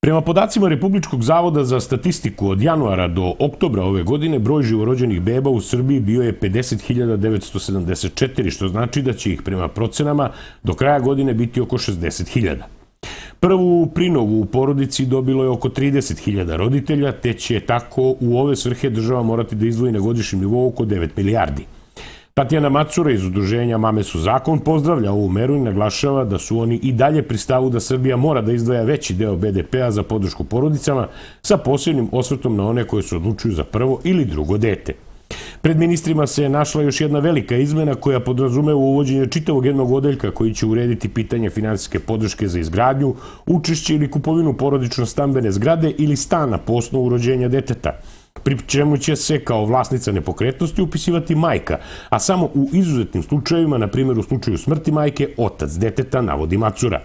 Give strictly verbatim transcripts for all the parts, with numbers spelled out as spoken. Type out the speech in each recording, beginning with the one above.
Prema podacima Republičkog zavoda za statistiku od januara do oktobra ove godine broj živorođenih beba u Srbiji bio je pedeset hiljada devetsto sedamdeset četiri, što znači da će ih prema procenama do kraja godine biti oko šezdeset hiljada. Prvu prinovu u porodici dobilo je oko trideset hiljada roditelja, te će tako u ove svrhe država morati da izdvoji na godišnjem nivou oko devet milijardi. Tatjana Macura iz udruženja Mame su zakon pozdravlja ovu meru i naglašava da su oni i dalje pri stavu da Srbija mora da izdvaja veći deo be de pea za podršku porodicama sa posebnim osvrtom na one koje se odlučuju za prvo ili drugo dete. Pred ministrima se našla još jedna velika izmena koja podrazumeva uvođenje čitavog jednog odeljka koji će urediti pitanje finansijske podrške za izgradnju, učešće ili kupovinu porodično-stambene zgrade ili stana po osnovu rođenja deteta, pri čemu će se kao vlasnica nepokretnosti upisivati majka, a samo u izuzetnim slučajevima, na primjer u slučaju smrti majke, otac deteta, navodi Macura.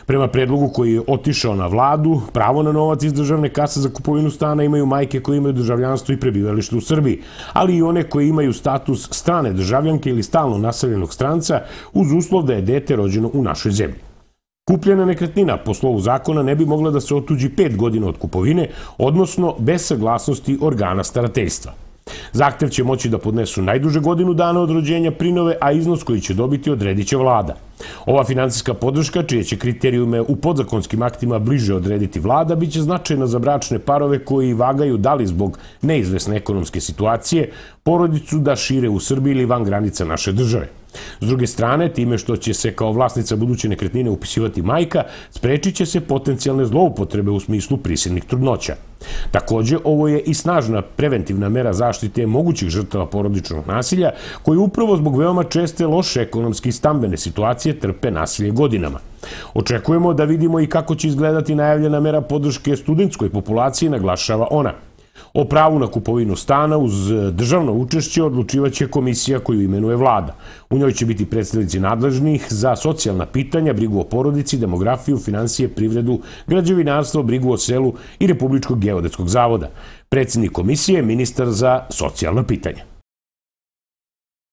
Prema predlogu koji je otišao na vladu, pravo na novac iz državne kase za kupovinu stana imaju majke koje imaju državljanstvo i prebivalište u Srbiji, ali i one koje imaju status strane državljanke ili stalno naseljenog stranca uz uslov da je dete rođeno u našoj zemlji. Kupljena nekretnina po slovu zakona ne bi mogla da se otuđi pet godina od kupovine, odnosno bez saglasnosti organa starateljstva. Zahtev će moći da podnesu najduže godinu dana od rođenja prinove, a iznos koji će dobiti odredit će vlada. Ova finansijska podrška, čije će kriterijume u podzakonskim aktima bliže odrediti vlada, biće značajna za bračne parove koji vagaju da li zbog neizvesne ekonomske situacije porodicu da šire u Srbiji ili van granica naše države. S druge strane, time što će se kao vlasnica buduće nekretnine upisivati majka, sprečit će se potencijalne zloupotrebe u smislu prisilnih trudnoća. Takođe, ovo je i snažna preventivna mera zaštite mogućih žrtava porodičnog nasilja, koji upravo zbog veoma česte loše ekonomske i stambene situacije trpe nasilje godinama. Očekujemo da vidimo i kako će izgledati najavljena mera podrške studentskoj populaciji, naglašava ona. O pravu na kupovinu stana uz državno učešće odlučivaće komisija koju imenuje vlada. U njoj će biti predstavnici nadležnih za socijalna pitanja, brigu o porodici, demografiju, finansije, privredu, građevinarstvo, brigu o selu i Republičkog geodetskog zavoda. Predsednik komisije je ministar za socijalna pitanja.